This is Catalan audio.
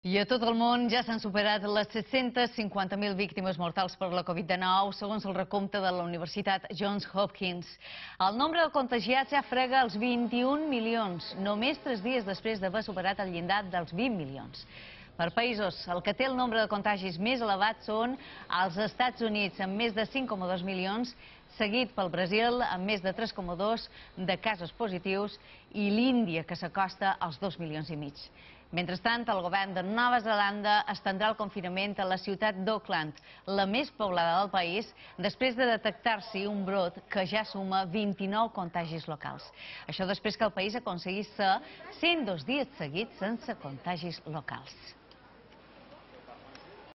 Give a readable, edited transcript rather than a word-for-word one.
I a tot el món ja s'han superat les 750.000 víctimes mortals per la Covid-19, segons el recompte de la Universitat Johns Hopkins. El nombre de contagiats ja frega els 21 milions, només 3 dies després d'haver superat el llindar dels 20 milions. Per països, el que té el nombre de contagis més elevat són els Estats Units, amb més de 5,2 milions, seguit pel Brasil, amb més de 3,2 de casos positius, i l'Índia, que s'acosta als 2,5 milions. Mentrestant, el govern de Nova Zelanda estendrà el confinament a la ciutat d'Auckland, la més poblada del país, després de detectar-s'hi un brot que ja suma 29 contagis locals. Això després que el país aconseguís ser 102 dies seguits sense contagis locals.